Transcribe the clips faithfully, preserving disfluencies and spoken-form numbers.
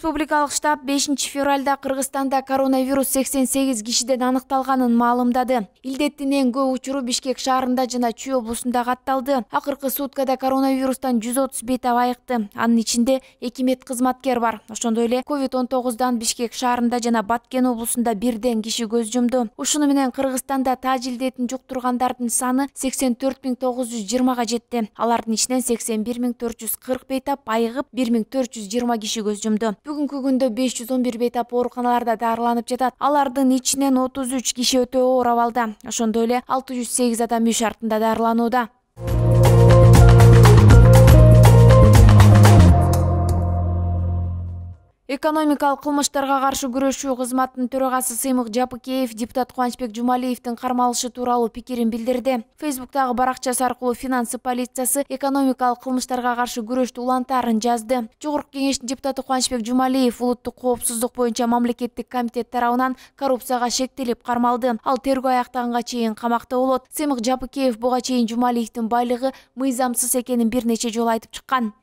Республикалык штаб бешинчи февралда Кыргызстанда коронавирус сексен сегиз кишиден аныкталганын маалымдады. Илдеттин эң көп учуру Бишкек шаарында жана Чүй облусунда катталды. Акыркы суткада коронавирустан жүз отуз бетап айыкты. Анын ичинде эки мед кызматкер бар. Ошондой эле ковид он тогуздан Бишкек шаарында жана Баткен облусунда бирден киши көз жумду. Ушуну менен Кыргызстанда таж илдетин жуктургандардын саны сексен төрт миң тогуз жүз жыйырмага жетти. Алардын ичинен сексен бир миң төрт жүз кырк бейтап айыгып, бир миң төрт жүз жыйырма киши көз жумду. Бүгүнкү күндө беш жүз он бир бейтап ооруканаларда дарыланып жатат. Алардын ичинен отуз үч киши өтө оор абалда. Ошондой эле алты жүз сегиз адам үй шартында дарыланууда. Экономикалык кылмыштарга каршы күрөшүү кызматынын төрагасы Сыймык Жапыкеев депутат Кубанычбек Жумалиевдин кармалышы тууралуу пикирин билдирди. Фейсбуктагы баракчасы аркылуу финансы полициясы экономикалык кылмыштарга каршы күрөштү улантаарын жазды. Жогорку кеңештин депутаты Кубанычбек Жумалиев улуттук коопсуздук боюнча мамлекеттик комитет тарабынан коррупцияга шектелип кармалды. Ал тергөө аяктаганга чейин камакта болот. Сыймык Жапыкеев буга чейин Жумалиевдин байлыгы мыйзамсыз экенин бир нече жолу айтып чыккан.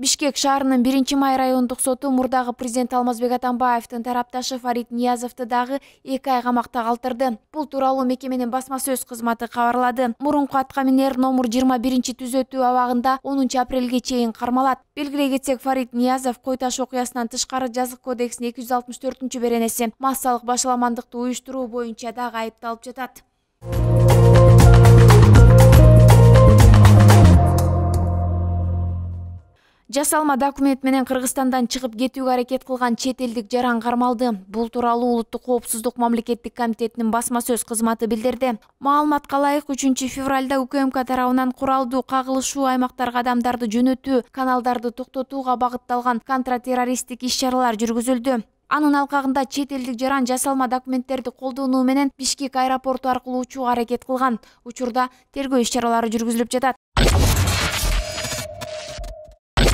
Бишкек шаарынын биринчи май райондук соту мурдагы президент Алмазбек Атамбаевдин тарапташы Фарид Ниязовду дагы эки ай камакта калтырды. Бул тууралуу мекеменин басма сөз кызматы кабарлады. Мурунку атка минер номер жыйырма биринчи түзөтүү абагында онунчу апрелге чейин кармалат. Белгилей кетсек, Фарид Ниязов кой таш окуясынан тышкары жазык кодексинин эки жүз алтымыш төртүнчү беренеси массалык башаламандыкты уюштуруу боюнча дагы айыпталып жатат. Жасалма документ менен Кыргызстандан чыгып кетүүгө аракет кылган чет элдик жаран кармалды. Бул тууралуу улуттук коопсуздук мамлекеттик комитетинин басма сөз кызматы билдирди. Маалыматка ылайык, үчүнчү февралда УКМК тарабынан куралдуу кагылышуу аймактарга адамдарды жөнөтүү, каналдарды токтотууга багытталган контртеррористтик иш-чаралар жүргүзүлдү. Анын алкагында чет элдик жаран жасалма документтерди колдонуу менен Бишкек аэропорту аркылуу учууга аракет кылган. Учурда тергөө иш-чаралары жүргүзүлүп жатат.